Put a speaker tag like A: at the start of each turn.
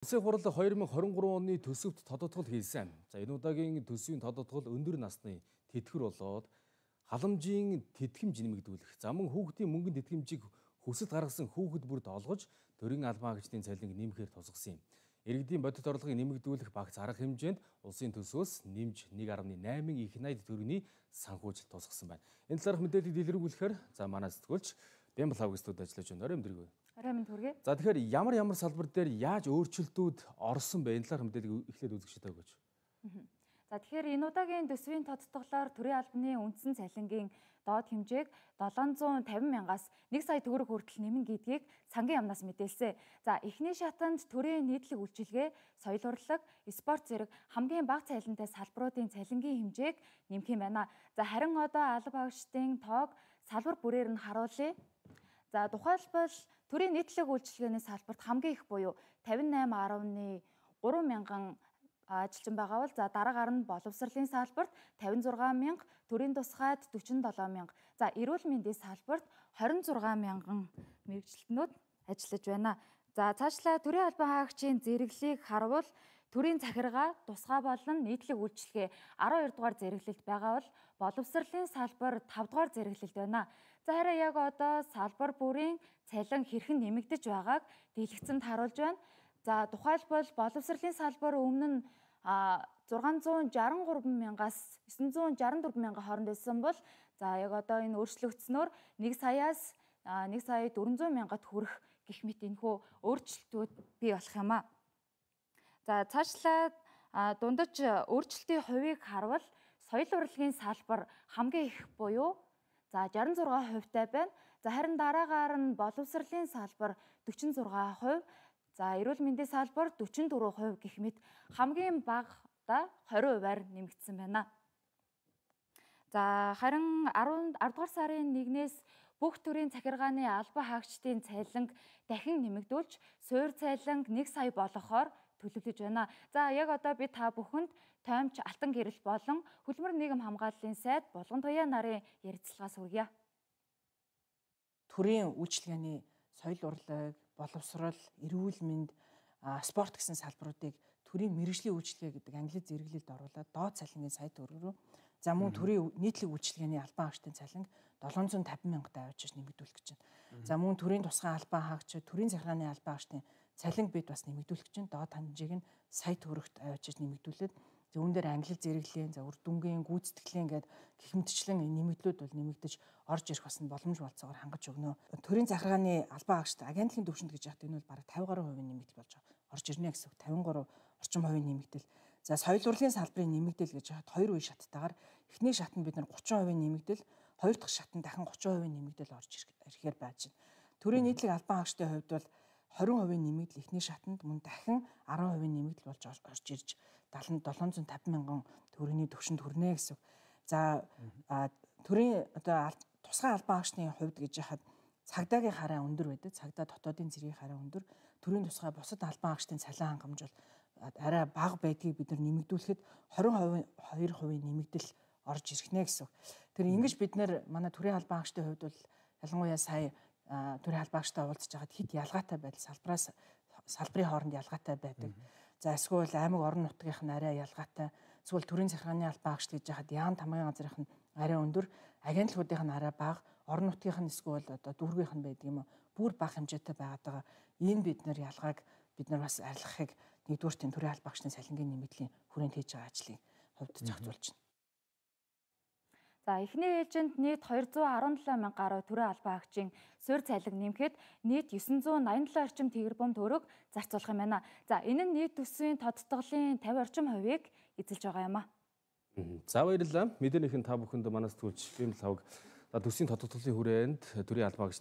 A: Улсын хурал 2023 оны төсөвт тодотгол хийсэн. За энэ удаагийн төсвийн тодотгол өндөр насны тэтгэвэр болоод халамжийн тэтгэмж нэмэгдүүлэх, за мөн хүүхдийн мөнгөнд тэтгэмжийг хүсэлт гаргасан хүүхэд бүрд олгож төрийн албан хаагчдын цалинг нэмэхээр тусгасан юм. Иргэдийн бодит орлогыг нэмэгдүүлэх багц арга хэмжээнд улсын төсвөөс нэмж 1.8 их найд төгрөгийн санхүүж тусгасан байна. Энэ талаарх мэдээллийг дэлгэрүүлэхээр за манай сэтгүүлч Бямбал студид ажиллаж байна. Орой өдрийг.
B: Орой минь төргий.
A: За тэгэхээр ямар салбар дээр яаж өөрчлөлтүүд орсон бэ? Энэ талаарх мэдээллийг эхлээд үзэгчтэй өгөөч.
B: За тэгэхээр энэ удаагийн төсвийн тодтоглоор төрийн албаны үндсэн цалингийн доод хэмжээг 750,000-аас 1 сая төгрөг хүртэл нэмнэ гэдгийг сангийн яамнаас мэдээлсэн. За эхний шатанд төрийн нийтлэг үйлчилгээ, соёл урлаг, спорт зэрэг хамгийн бага цалинтай салбаруудын цалингийн хэмжээг нэмэх юм байна. За харин одоо алба агчдын тоог салбар бүрээр нь харуулъя. За тухайлбал төрийн нийтлэг үйлчилгээний салбарт хамгийн их буюу 58.3 мянган ажилчин байгаа бол за дараагаар нь боловсролын салбарт 56,000, төрийн тусгайд 47,000, за эрүүл мэндийн салбарт 26,000 мэргэжилтнүүд ажиллаж байна. За цаашлаа төрийн албан хаагчийн зэрэглэлийг харуул төрийн захиргаа, тусгай болон нийтлэг үйлчилгээ 12 дугаар зэрэглэлд байгаа бол боловсролын салбар 5 дугаар зэрэглэлд байна. За харин яг одоо салбар бүрийн цалин хэрхэн нэмэгдэж байгааг дэлгэцэнд харуулж байна. За тухайлбал боловсролын салбар өмнө нь 663,000-аас 964,000 хооронд байсан бол за яг одоо энэ өөрчлөгдснөөр 1 саяас 1,400,000-д хүрэх гэх мэт энэхүү өөрчлөлтүүд бий болох юм а. За цаашлаа дундаж өөрчлөлтийн хувийг харвал соёл урлагийн салбар хамгийн их буюу за 66%-тай байна. За харин дараагаар нь боловсролын салбар 46%, за эрүүл мэндийн салбар 44% гэх мэт хамгийн багада 20%-аар нэмэгдсэн байна. За харин 10 дугаар сарын 1-ээс бүх төрлийн захиргааны албан хаагчдын цалинг дахин нэмэгдүүлж суур цалинг 1 сая болохоор төлөвлөж байна. За яг одоо би та бүхэнд тоймч алтан гэрэл болон хөдөлмөр нийгэм хамгааллын сайд Булган Туяа нарын ярилцлагаас хүргье.
C: Төрийн үйлчилгээний соёл урлаг, боловсрол, эрүүл мэнд, спорт гэсэн салбаруудыг төрийн мэргэжлийн үйлчилгээ гэдэг англи зэрэглэлд оруулаад доод цалингийн сая төгрөг рүү, за мөн төрийн нийтлэг үйлчилгээний албан хаагчдын цалинг 750,000-тай авчиж нэмэгдүүлэх гэж байна. За мөн төрийн тусгай албан хаагч, төрийн захиргааны албан хаагчдын цалинг бид бас нэмэгдүүлэх чинь доод хэмжээг нь сая төгрөгт авчиж нэмэгдүүлээд зүүн дээр англи зэрэглэлийн, за үр дүнгийн, гүйцэтгэлийн гээд гэх мэтчлэн нэмэгдлүүд бол нэмэгдэж орж ирэх бас нь боломж болцоогоор хангаж өгнө. Төрийн захиргааны албан хаагчид агентлагийн төвшөнд гэж яхад энэ бол бараг 50% нэмэгдэл болж орж ирнэ гэсэн үг. 53 орчим хувийн нэмэгдэл. За соёл урлагийн салбарын нэмэгдэл гэж яхад 2 үе шаттайгаар эхний шатанд бид нар 30% нэмэгдэл, хоёр дахь шатанд дахин 30% нэмэгдэл орж ирэхээр байж байна. Төрийн нийтлэг албан хаагчдын хувьд бол 20% нэмэгдэл эхний шатанд, мөн дахин 10% нэмэгдэл болж орж ирж 750,000 төгрөгийн төвшөнд хүрнэ гэсэн. За төрийн одоо тусгай албан хаагчдын хувьд гэж яхад цагдаагийн хараа өндөр байдаг. Цагдаа дотоодын зэргийн хараа өндөр. Төрийн тусгай бусад албан хаагчдын цалин хангамж бол арай бага байдгийг бид нар нэмэгдүүлэхэд 22% нэмэгдэл орж ирнэ гэсэн. Тэр ингэж бид нар манай төрийн албан хаагчдын хувьд бол ялангуяа сая төрийн албан хаагчтай уулзж байгаад хэд ялгаатай байдал салбарын хооронд ялгаатай байдаг. За эсвэл аймаг орон нутгийнх нь арай ялгаатай. Эсвэл төрийн захиргааны албан хаагчд гэж яхад яам тамгын газрынх нь арай өндөр, агентлагуудынх нь арай бага, орон нутгийнх нь эсвэл одоо дүүргийнх нь байдаг юм уу? Бүр бага хэмжээтэй байгаа. Энэ бид нар ялгааг бид нар бас арилгахыг нэгдүгээр төрийн албан хаагчдын цалингийн нэмэгдлийн хүрээнд хийж байгаа ажлын хувьд зохицуулж байна.
B: За эхний ээлжинд нийт 217,000 гаруй төрийн албан хаагчийн суур цалин нэмэхэд нийт 987 орчим тэрбум төгрөг зарцуулах юм байна. За энэ нь нийт төсвийн тодтголын 50 орчим хувийг эзэлж байгаа юм а.
A: За баярлалаа. Мэдээнийхэн та бүхэнд манай сэтгүүлч Бямбал төсвийн тодтголын хүрээнд төрийн албан хаагчдын